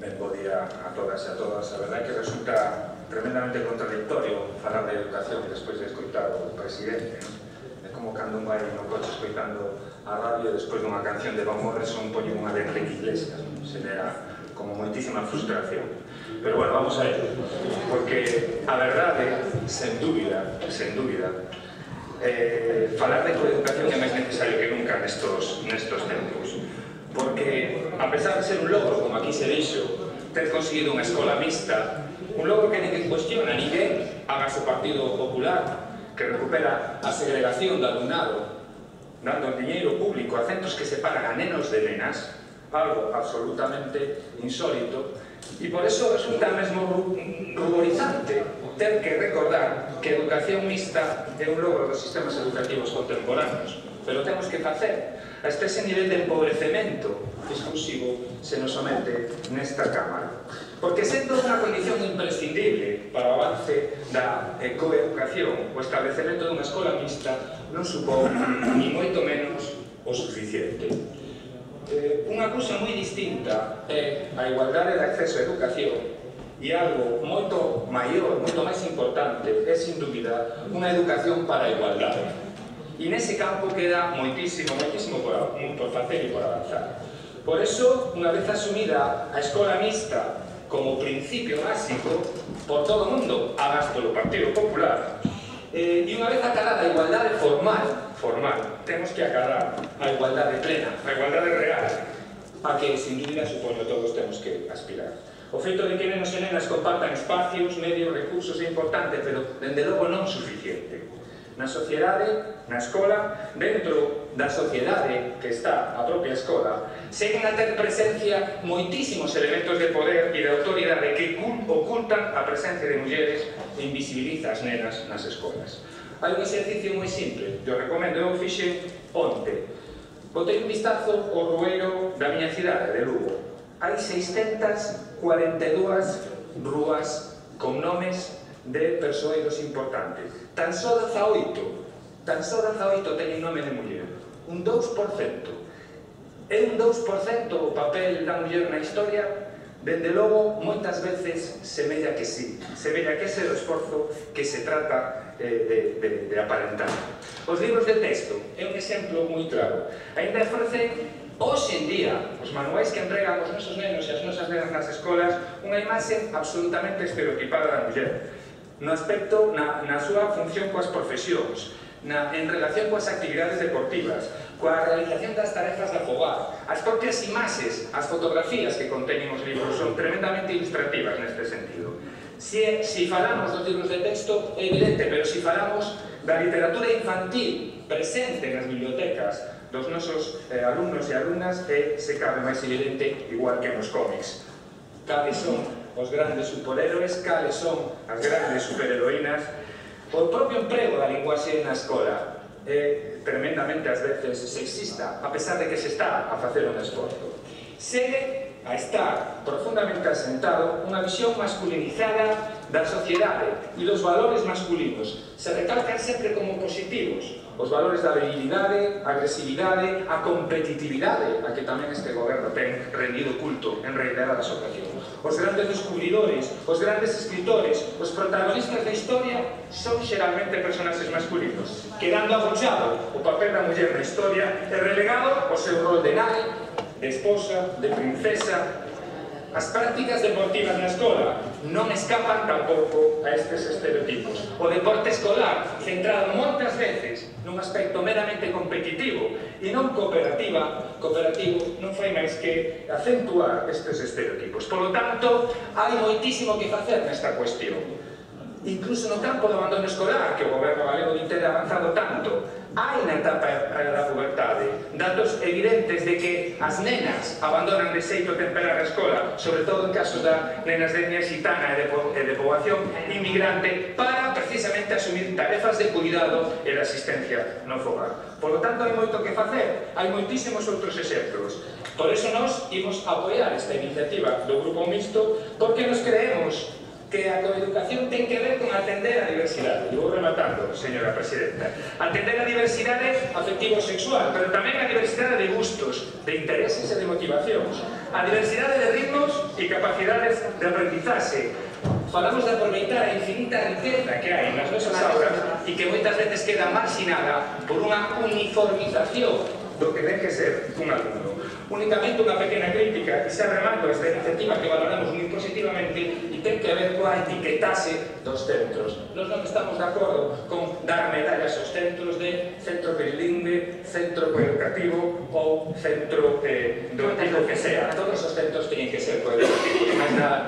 Ben, bo día a todas e a todas. A verdade é que resulta tremendamente contradictorio falar de educación despois de escoitar o presidente. É como cando un vai no coche escoitando a radio e despois dunha canción de Van Morrison poñen unha de Enrique Iglesias. Se lea como moitísima frustración. Pero bueno, vamos a ello. Porque a verdade, sen dúbida, falar de coeducación é máis necesario que nunca nestos tempos. Porque, a pesar de ser un logro, como aquí se dixo, ter conseguido unha escola mixta, un logro que ninguén cuestiona, ninguén hagas o Partido Popular, que recupera a segregación do alumnado, dando diñeiro público a centros que separan a nenos de nenas, algo absolutamente insólito, e por eso resulta mesmo ruborizante ter que recordar que a educación mixta é un logro dos sistemas educativos contemporáneos, pero temos que facer hasta ese nivel de empobrecemento exclusivo se nos somete nesta Cámara. Porque sendo unha condición imprescindible para o avance da coeducación, o establecemento dunha escola mixta non supón ni moito menos o suficiente. Unha cousa moi distinta é a igualdade de acceso á educación e algo moito maior, moito máis importante, é sin dúbida unha educación para a igualdade. E nese campo queda moitísimo por facer e por avanzar. Por eso, unha vez asumida a escola mixta como principio básico por todo o mundo, agás polo Partido Popular, e unha vez acadada a igualdade formal, temos que acadar a igualdade plena, a igualdade real, a que, sin dúbida, supoño, todos temos que aspirar. O feito de que nenos e nenas compartan espacios, medios, recursos é importante, pero, dende logo, non suficiente. Na sociedade, na escola, dentro da sociedade que está a propia escola, seguen a ter presencia moitísimos elementos de poder e de autoridade que ocultan a presencia de mulleres e invisibiliza as nenas nas escolas. Hai un exercicio moi simple, eu recomendo, eu fixen onte. Botei un vistazo ao rueiro da miña cidade, de Lugo. Hai 642 rúas con nomes de persoeiros importantes. Tan só 18 teñen nome de muller. Un 2%. É un 2% o papel da muller na historia? Dende logo, moitas veces semella que sí. Semella que ese é o esforzo que se trata de aparentar. Os libros de texto é un exemplo moi claro. Ainda ofrecen, hoxe en día, os manuais que entregan os nosos nenos e as nosas nenas nas escolas, unha imaxe absolutamente estereotipada da muller. No aspecto, na súa función coas profesións, en relación coas actividades deportivas, coa realización das tarefas da fogar. As propias imaxes, as fotografías que conteñen os libros son tremendamente ilustrativas neste sentido. Si falamos dos libros de texto é evidente, pero si falamos da literatura infantil presente nas bibliotecas dos nosos alumnos e alumnas é, se cabe, máis evidente, igual que nos cómics. Cales son os grandes superhéroes, cales son as grandes superheroínas. O propio emprego da linguaxe na escola é tremendamente ás veces sexista, a pesar de que se está a facer un esforzo. Segue a estar profundamente asentado unha visión masculinizada da sociedade e dos valores masculinos. Se recalcan sempre como positivos os valores da virilidade, a agresividade, a competitividade, a que tamén este goberno ten rendido culto en reiteradas ocasións. Os grandes descubridores, os grandes escritores, os protagonistas da historia son xeralmente personaxes masculinos, quedando agochado o papel da muller na historia e relegado o seu rol de nai, de esposa, de princesa. As prácticas deportivas na escola non escapan tampouco a estes estereotipos. O deporte escolar, centrado moitas veces nun aspecto meramente competitivo e non cooperativo, non fai máis que acentuar estes estereotipos. Por lo tanto, hai moitísimo que facer nesta cuestión. Incluso no campo do abandono escolar, que o goberno galego din ter avanzado tanto, hai na etapa da pubertade datos evidentes de que as nenas abandonan de xeito temperar a escola, sobre todo en caso das nenas de etnia xitana e de poboación inmigrante, para precisamente asumir tarefas de cuidado e de asistencia no fogar. Por lo tanto, hai moito que facer, hai moitísimos outros exemplos. Por eso nos imos apoiar esta iniciativa do Grupo Mixto, porque nos creemos que a coeducación ten que ver con atender a diversidade. E vou rematando, señora presidenta. Atender a diversidade afectivo-sexual, pero tamén a diversidade de gustos, de intereses e de motivacións. A diversidade de ritmos e capacidades de aprendizaxe. Falamos de aproveitar a infinita riqueza que hai nas nosas aulas e que moitas veces queda marxinada por unha uniformización do que ten que ser un alumno. Únicamente unha pequena crítica, e xa remato esta iniciativa que valoramos moi positivamente, e ten que ver coa etiquetase dos centros. Nos non estamos de acordo con dar medallas aos centros de centro bilingüe, centro coeducativo ou centro do tipo que sea. Todos os centros teñen que ser coeducativos, máis nada